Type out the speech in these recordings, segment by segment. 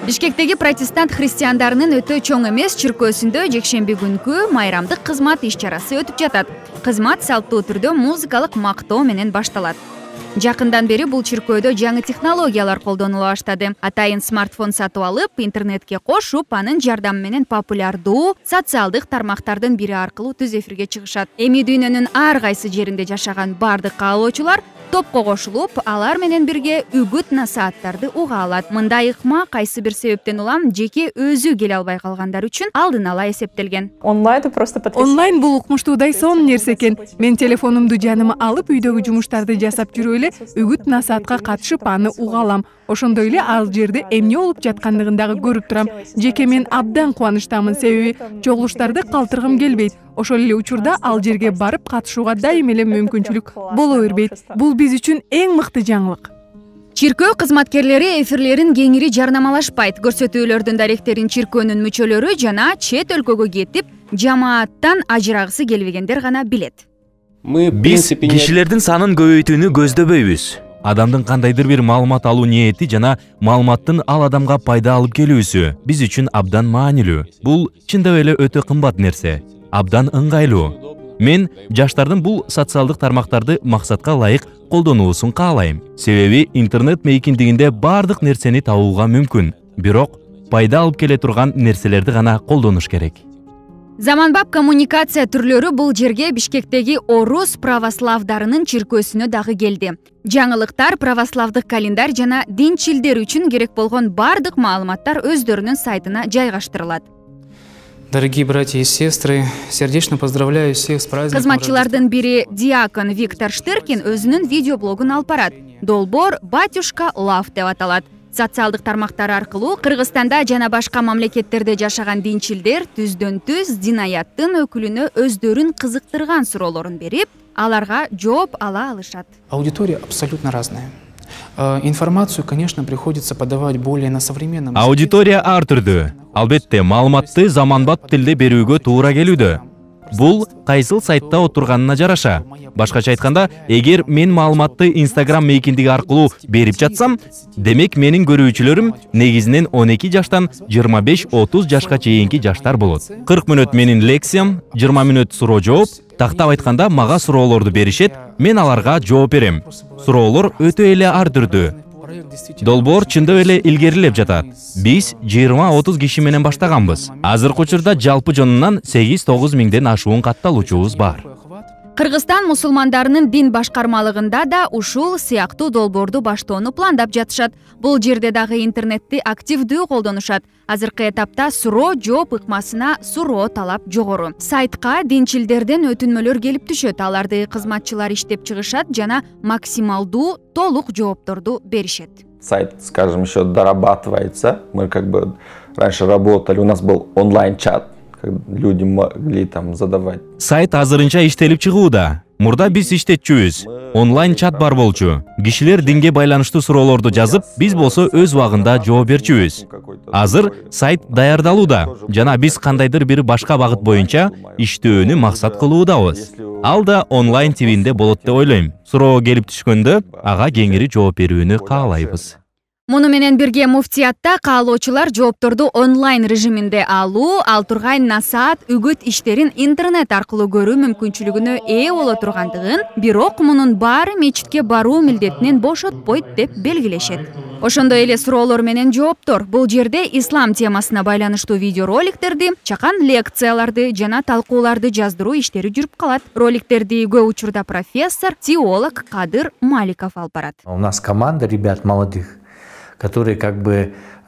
Бишкектеги протестант христиандарынын өтө чоң эмес чиркөөсүндө жекшемби күнкү майрамдык кызмат иш-чарасы өтүп жатат. Кызмат салттуу түрдө музыкалык мактоо менен башталат. Жакындан бери бул чиркөөдө жаңы технологиялар колдонула баштады. Атайын смартфон сатып алып, интернетке кошуп, анын жардамы менен популярдуу социалдык тармактардын бири аркылуу түз эфирге чыгышат. Эми дүйнөнүн ар кайсы жеринде жашаган бардык каалоочулар топко кошулуп, алар менен бирге үгүт насааттарды уга алат. Мындай ыкма кайсы бир себептен улам жеке өзү келе албай калгандар үчүн алдын ала эсептелген. Онлайн бул укмуштуудай сонун нерсе экен. Мен телефонумду жаныма алып, үйдөгү жумуштарды жасап жүрүп эле үгүт насаатка катышып аны уга алам. Ошондой эле ал жерде эмне болуп жаткандыгын дагы көрүп турам. Жеке мен абдан кубанычтамын, себеби чогулуштарды калтыргым келбейт. Ошол эле учурда ал жерге барып катышууга дайым эле мүмкүнчүлүк боло бербейт. Бул биз үчүн эң мыкты жаңылык. Чиркөө кызматкерлери эфирлерин кеңири жарнамалашпайт. Көрсөтүүлөрдүн даректерин чиркөөнүн мүчөлөрү жана чет өлкөгө кетип, жамааттан ажырагысы келбегендер гана билет. Биз кишилердин санын көбөйтүүнү көздөбөйбүз. Адамдын кандайдыр бир маалымат алуу ниети жана маалыматтын ал адамга пайда алып келүүсү биз үчүн абдан маанилүү. Бул чындап эле өтө кымбат нерсе, абдан ыңгайлуу. Мен жаштардын бул социалдык тармактарды максатка ылайык колдонуусун каалайм. Себеби интернет мейкиндигинде бардык нерсени табууга мүмкүн. Бирок пайда алып келе турган нерселерди гана колдонуш керек. Заманбап коммуникация түрлөрү бул жерге Бишкектеги орус православдарынын чиркөөсүнө дагы келди. Жаңылыктар, православдык календарь жана динчилдер үчүн керек болгон бардык маалыматтар өздөрүнүн сайтына жайгаштырылат. Дорогие братья и сестры, сердечно поздравляю всех с праздником. Кызматчылардын бири диакон Виктор Штыркин өзүнүн видеоблогун алып барат. Долбоор Батюшка Лав деп аталат. Социалдык тармактар аркылуу Кыргызстанда жана башка мамлекеттерде жашаган динчилдер түздөн-түз дин аяттын өкүлүнө өздөрүн кызыктырган суроолорун берип, аларга жооп ала алышат. Аудитория абсолютно разная. Информацию, конечно, приходится подавать более на современном. Аудитория ар түрдүү. Албетте, маалыматты заманбап тилде берүүгө туура келүүдө. Бул кайсыл сайтта отурганына жараша. Башкача айтканда, эгер мен маалыматты Instagram мейкиндиги аркылуу берип жатсам, демек менин көрүүчүлөрүм негизинен 12 жаштан 25-30 жашка чейинки жаштар болот. 40 мүнөт менин лекциям, 20 мүнөт суроо жооп, тактап айтканда мага суроолорду беришет, мен аларга жооп берем. Суроолор өтө эле ар түрдүү. Долбоор чындап эле илгерилеп жатат. Биз 20-30 киши менен баштаганбыз. Азыркы учурда жалпы жонунан 8-9 миңден ашуун катталуучубуз бар. Кыргызстан мусулмандарынын дин башкармалыгында да ушул сыяктуу долбоорду баштоону пландап жатышат. Бул жерде дагы интернетти активдүү колдонушат. Азыркы этапта суроо жооп ыкмасына суроо талап жогору. Сайтка динчилдерден өтүнмөлөр келип түшөт. Аларды кызматчылар иштеп чыгышат жана максималдуу толук жоопторду беришет. Сайт, скажем, еще дорабатывается. Мы раньше работали, у нас был онлайн-чат. Люди могли там задавать. Сайт азырынча иштелип чыгууда. Мурда биз иштетчүбүз. Онлайн чат бар болчу. Кишилер динге байланыштуу суроолорду жазып, биз болсо өз убагында жооп берчүбүз. Азыр сайт даярдалууда жана биз кандайдыр бир башка багыт боюнча иштөөнү максат кылуудабыз. Ал да онлайн тивинде болот деп ойлойм. Суроо келип түшкөндө ага кеңири жооп берүүнү каалайбыз. Муну менен бирге муфтиятта каалоочулар жоопторду онлайн режиминде алуу, ал тургай насаат үгүт иштерин интернет аркылуу көрүү мүмкүнчүлүгүнө ээ боло тургандыгын, бирок мунун баары мечитке баруу милдетинен бошотпойт деп белгилешет. Ошондой эле суроолор менен жооптор. Бул жерде ислам темасына байланыштуу видеороликтерди, чакан лекцияларды жана талкууларды жаздыруу иштери жүрүп калат. Роликтерди көп учурда профессор, теолог Кадыр Маликов алып барат. У нас команда ребят молодых, которые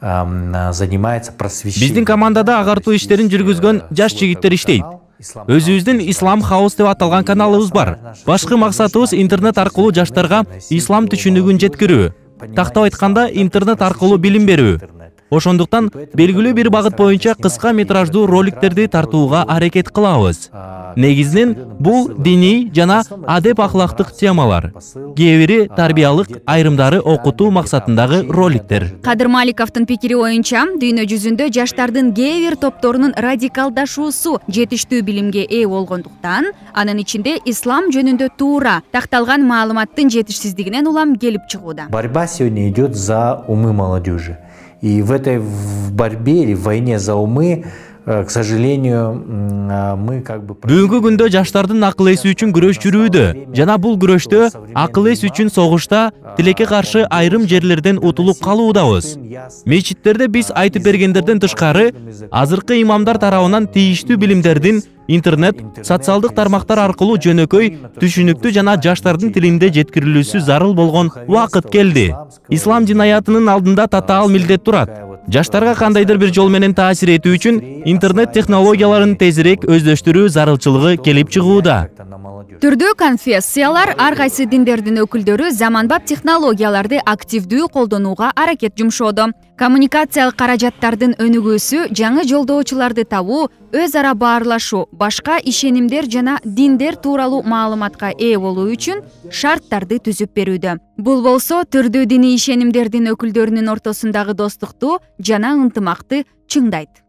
занимаются просвещением. Биздин командада агартуу иштерин жүргүзгөн жаш жигиттер иштейт. Өзүбүздүн Ислам Хаус деп аталган каналыбыз бар. Башкы максатыбыз интернет аркылуу жаштарга ислам түшүнүгүн жеткирүү. Тактап айтканда, интернет аркылуу билим берүү. Ошондуктан белгилүү бир багыт боюнча кыска метраждуу роликтерди тартууга аракет кылабыз. Негизинен бул диний жана адеп акылактык темалар. Кээ бири тарбиялык, айрымдары окутуу максатындагы роликтер. Кадыр Маликовдун пикири боюнча, дүйнө жүзүндө жаштардын кээ бир топторунун радикалдашуусу жетиштүү билимге ээ болгондуктан, анын ичинде ислам жөнүндө туура такталган маалыматтын жетишсиздигинен улам келип чыгууда. Борьба сегодня идет за умы молодежи. И в этой борьбе или в войне за умы, к сожалению, мы как бы... Бүгүнкү күндө жаштардын акыл эси үчүн күрөш жүрүүдө. Жана бул күрөштө акыл эс үчүн согушта тилекке каршы айрым жерлерден утулуп калуудабыз. Мечиттерде биз айтып бергендерден тышкары, азыркы имамдар тарабынан тийиштүү билимдердин интернет, социалдык тармактар аркылуу жөнөкөй, түшүнүктүү жана жаштардын тилинде жеткирилүүсү зарыл болгон убакыт келди. Ислам динаятынын алдында татаал милдет турат. Жаштарга кандайдыр бир жол менен таасир этүү үчүн интернет технологияларын тезирээк өздөштүрүү зарылчылыгы келип чыгууда. Түрдүү конфессиялар, ар кайсы диндердин өкүлдөрү заманбап технологияларды активдүү колдонууга аракет жумшоодо. Коммуникациялык каражаттардын өнүгүүсү жаңы жолдоочуларды табуу, өз ара баарлашуу, башка ишенимдер жана диндер тууралуу маалыматка ээ болуу үчүн шарттарды түзүп берүүдө. Бул болсо түрдүү диний ишенимдердин өкүлдөрүнүн ортосундагы достукту жана ынтымакты чыңдайт.